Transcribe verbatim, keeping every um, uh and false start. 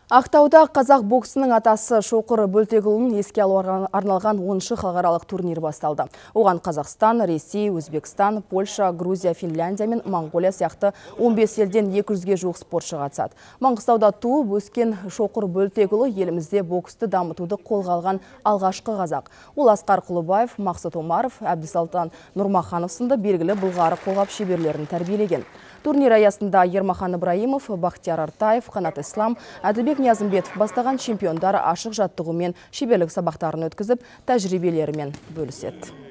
Ақтауда қазақ боксының атасы Шоқыр Бөлтекұлын еске алуға арналған оныншы халықаралық турнир басталды. Оған Қазақстан, Ресей, Өзбекстан, Польша, Грузия, Финляндия мен Моңғолия сияқты он бес елден екі жүзге жуық спортшы қатысады. Маңғыстауда туып өскен Шоқыр Бөлтекұлы елімізде боксты дамытуды қолға алған алғашқы қазақ. Ол Асқар Құлыбаев, Мақсат Омаров, Әбдісалтан Нұрмаханов сынды белгілі былғары қолғап шеберлерін тәрбиелеген. Турнир аясында Ермахан Ибраимов, Бақтияр Артаев, Қанат Ислам, Әділбек Ниязымбетов бастаған чемпиондар ашық жаттығумен шеберлік сабақтарын өткізіп, тәжірибелерімен бөліседі.